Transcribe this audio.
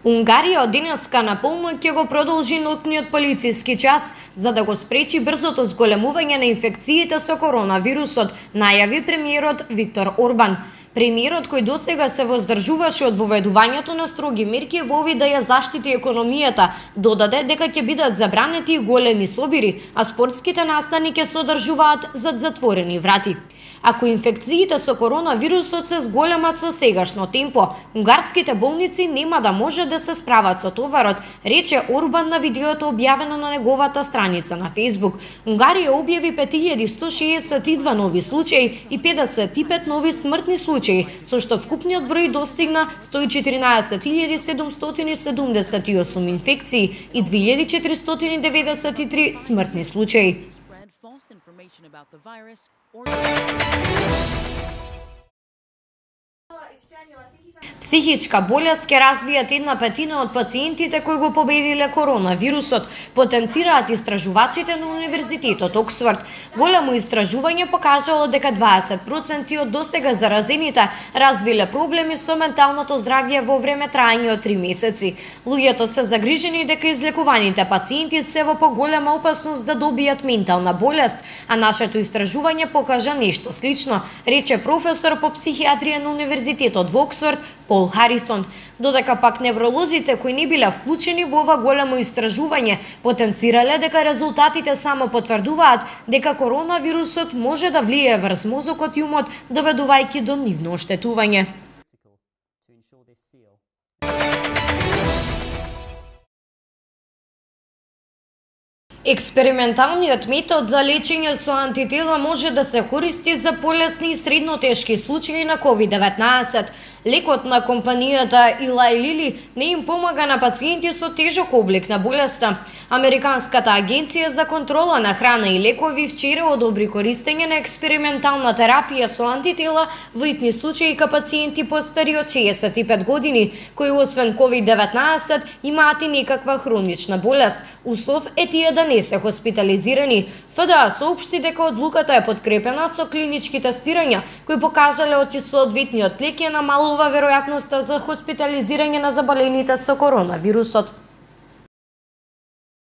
Унгарија од денеска наполно ќе го продолжи ноќниот полициски час за да го спречи брзото зголемување на инфекциите со коронавирусот, најави премиерот Виктор Орбан. Премиерот, кој досега се воздржуваше од воведувањето на строги мерки во обид да ја заштити економијата, додаде дека ќе бидат забранети и големи собири, а спортските настани ќе се одржуваат зад затворени врати. Ако инфекциите со коронавирусот се зголемат со сегашно темпо, унгарските болници нема да може да се справат со товарот, рече Орбан на видеото објавено на неговата страница на Facebook. Унгарија објави 5162 нови случаи и 55 нови смртни случаи, со што вкупниот број достигна 114.778 инфекции и 2493 смртни случаи. Психичка болест ќе развијат 1/5 од пациентите кои го победиле коронавирусот, потенцираат истражувачите на Универзитетот Оксфорд. Големо истражување покажало дека 20% од досега заразените развиле проблеми со менталното здравје во време траење од 3 месеци. Луѓето се загрижени дека излекуваните пациенти се во поголема опасност да добијат ментална болест, а нашето истражување покажа нешто слично, рече професор по психијатрија на Универзитетот во Оксфорд Пол Харисон, додека пак невролозите кои не биле вклучени во ова големо истражување потенцирале дека резултатите само потврдуваат дека коронавирусот може да влијае врз мозокот и умот, доведувајќи до нивно оштетување. Експерименталниот метод за лечење со антитела може да се користи за полесни и средно тешки случаи на COVID-19. Лекот на компанијата Eli Lilly не им помага на пациенти со тежок облик на болеста. Американската агенција за контрола на храна и лекови вчера одобри користење на експериментална терапија со антитела во итни случаи кај пациенти постари од 65 години, кои освен COVID-19 имаат и некаква хронична болест. Услов е тие да не се хоспитализирани. ФДА соопшти дека одлуката е подкрепена со клинички тестирања кои покажале од соодветниот лек е намалува веројатноста за хоспитализирање на заболените со коронавирусот.